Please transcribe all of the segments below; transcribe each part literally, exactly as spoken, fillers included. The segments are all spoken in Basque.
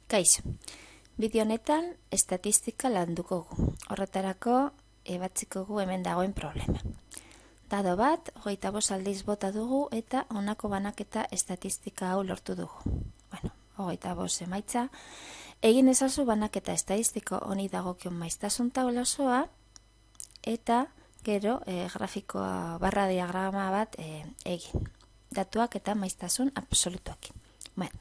Kaixo, bideo honetan estatistika landuko gu. Horretarako ebatziko gu hemen dagoen problema. Dado bat, hogeita bost aldiz bota dugu eta honako banaketa estatistika hau lortu dugu. Bueno, hogeita bost emaitza. Egin ezazu banaketa estatistiko honi dagokion maiztasun taula osoa eta gero e, grafikoa barra diagrama bat e, egin. Datuak eta maiztasun absolutuak. Bueno,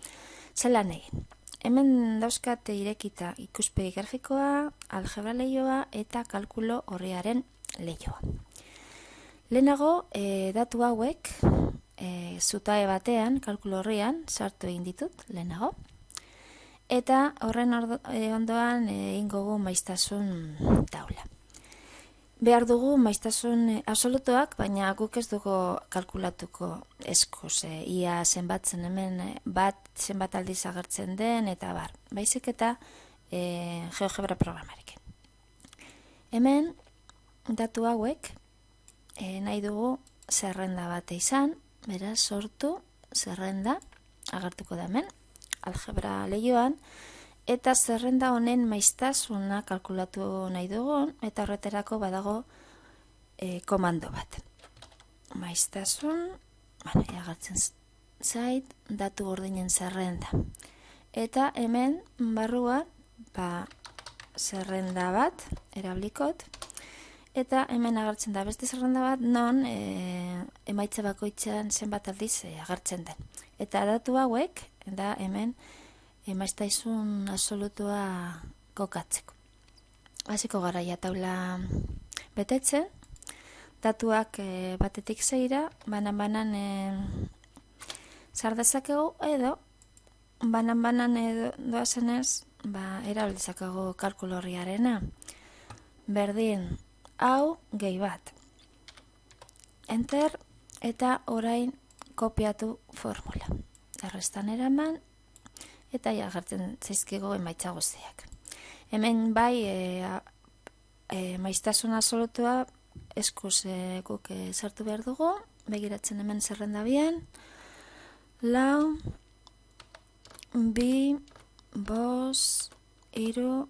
zelan egin. Hemen dauzkat irekita ikuspegi grafikoa, algebra lehioa eta kalkulo horriaren lehioa. Lehenago, e, datu hauek e, zutae batean, kalkulo horrian, sartu egin ditut, lehenago. Eta horren ordo, e, ondoan egingo gu maiztasun taula. Behar dugu maiztasun absolutuak, baina guk ez dugu kalkulatuko eskuz, e, ia zenbatzen hemen bat zenbat aldiz agertzen den, eta bar, baizik eta e, GeoGebra programarekin. Hemen, datu hauek, e, nahi dugu zerrenda bat izan, beraz, sortu zerrenda, agertuko da hemen, algebra lehioan, eta zerrenda honen maiztasuna kalkulatu nahi dugun, eta horretarako badago e, komando bat. Maiztasun, bueno, agertzen zait, datu gordinen zerrenda. Eta hemen barrua, ba, zerrenda bat, erablikot, eta hemen agertzen da beste zerrenda bat, non e, emaitza bakoitzean zenbat aldiz e, agertzen den. Eta datu hauek, da hemen, maiztasun absolutua kokatzeko. Hasiko garaia taula betetzen, datuak e, batetik zeira, banan-banan e, zardezakegu edo, banan-banan edo doazenez, ba, erabilizakegu kalkulo horriarena. Berdin, hau gehi bat. Enter eta orain kopiatu formula. Errestan eraman, eta ja agertzen zaizkigu emaitza guztiak. Hemen bai e, e, maiztasun absolutua eskuz e, guk e, sartu behar dugu, begiratzen hemen zerrenda bian, lau, bi, bos, iru,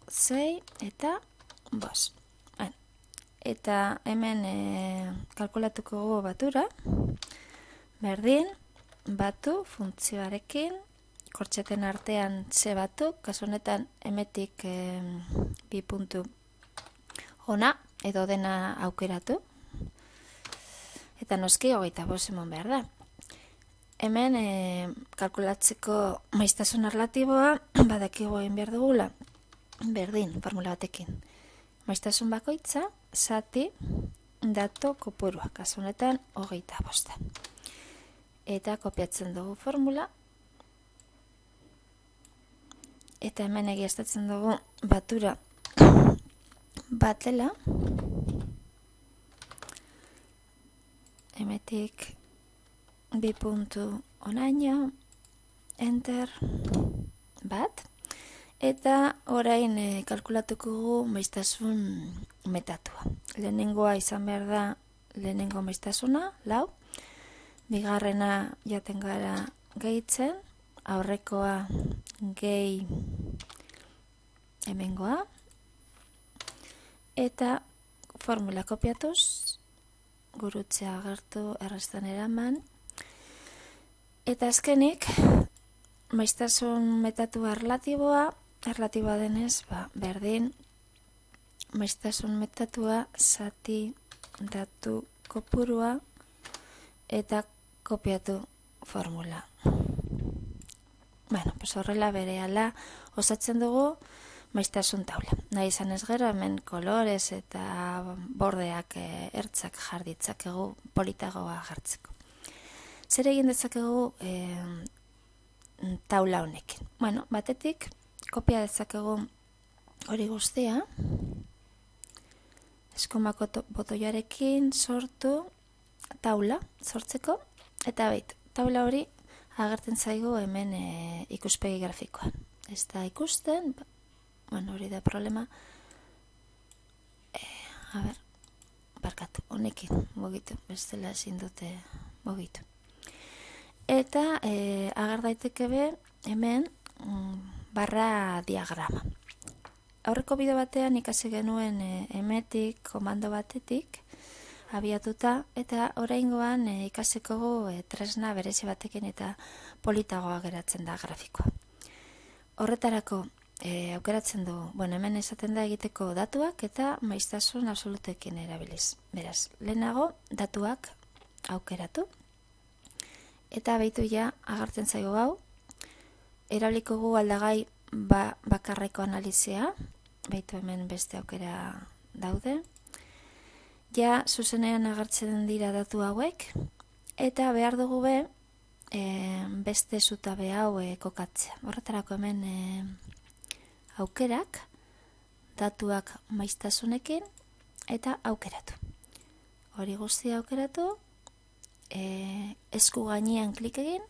zei eta bos. Bueno, eta hemen e, kalkulatuko gogo batura, berdin, batu funtzioarekin, kortxeten artean ze batuk, kasu honetan emetik e, bi puntu ona edo dena aukeratu. Eta noski hogeita bost emon behar da. Hemen e, kalkulatzeko maiztasun erlatiboa badakigu egin behar dugula. Berdin, formula batekin. Maiztasun bakoitza, zati, datu kopurua, kasu honetan hogeita bosta. Eta kopiatzen dugu formula. Eta hemen egiaztatzen dugu batura batela. Hemetik bi puntu onaino, enter, bat. Eta orain e, kalkulatuko gu maiztasun metatua. Lehenengoa izan behar da lehenengo maiztasuna, lau. Bigarrena jaten gara gehitzen, aurrekoa gehi hemengoa, eta formula kopiatuz, gurutzea agertu errestan eraman, eta azkenik, maiztasun metatua erlatiboa, erlatiboa denez, ba, berdin, maiztasun metatua zati datu kopurua, eta kopiatu formula. Bueno, pues horrela berehala osatzen dugu maiztasun taula. Nahi izan ez gero, hemen kolorez eta bordeak e, ertzak jarditzakegu politagoa jartzeko. Zer egin dezakegu e, taula honekin? Bueno, batetik, kopia dezakegu hori guztia, eskumako botoiarekin sortu taula sortzeko, eta bait, taula hori agertzen zaigu hemen e, ikuspegi grafikoan. Ez da ikusten, bueno, hori da problema. E, a ber, barkatu, honekin mugitu, bestela ezin dute mugitu. Eta e, ager daiteke be, hemen, mm, barra diagrama. Aurreko bideo batean ikasi genuen e, emetik, komando batetik, abiatuta, eta oraingoan e, ikasiko e, tresna berezi batekin eta politagoa geratzen da grafikoa. Horretarako e, aukeratzen du, bueno, hemen esaten da egiteko datuak eta maiztasun absolutekin erabiliz. Beraz, lehenago datuak aukeratu, eta behitu ja agartzen zaigu hau, erabiliko gu aldagai ba, bakarreko analizia, behitu hemen beste aukera daude, ja zuzenean agertzen dira datu hauek, eta behar dugu be, e, beste zutabe hau e, kokatzea. Horretarako hemen e, aukerak, datuak maiztasunekin, eta aukeratu. Hori guztia aukeratu, e, esku gainean klik egin,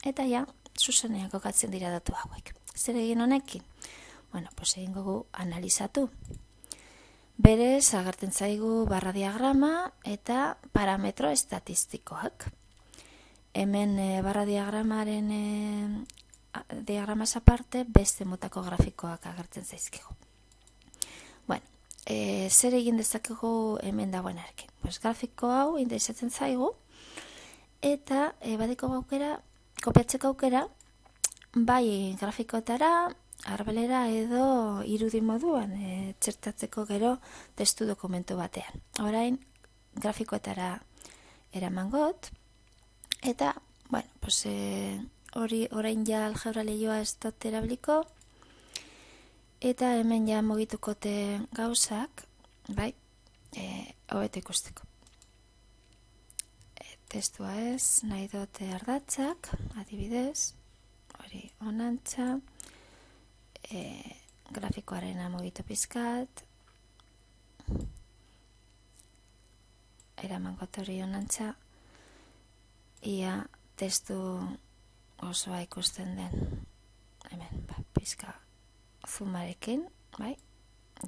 eta ja, zuzenean kokatzen dira datu hauek. Zer egin honekin? Bueno, pues egin gogu analizatu. Berez, agertzen zaigu barra diagrama eta parametro estatistikoak. Hemen e, barra diagramaren e, diagramaz aparte beste motako grafikoak agertzen zaizkigu. Bueno, e, zer egin dezakegu hemen dagoenarekin? Pues grafiko hau interesatzen zaigu eta e, badiko aukera, kopiatzeko aukera, bai grafikoetara, arbelera edo irudi moduan e, txertatzeko gero testu dokumentu batean. Orain grafikoetara eramangot, eta, bueno, pues, e, hori orain ja algebra lehioa ez dut erabiliko, eta hemen ja mugitukote gauzak, bai, e, hobeto ikusteko. E, testua ez, nahi dute ardatzak, adibidez, hori onantza, e, grafikoaren amugitu pizkat, eramangot hori onantza, ia testu osoa ikusten den, hemen, ba, pizka zumarekin, bai,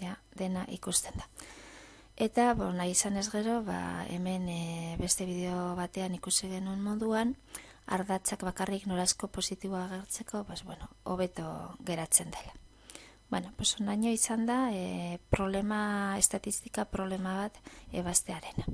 ja, dena ikusten da. Eta, bo, nahi izan ez gero, ba, hemen e, beste bideo batean ikusi genuen moduan, ardatzak bakarrik norazko positiboa agertzeko, pues, bueno, hobeto geratzen dela. Bueno, pues, onaino izan da, e, problema, estatistika problema bat ebaztearena.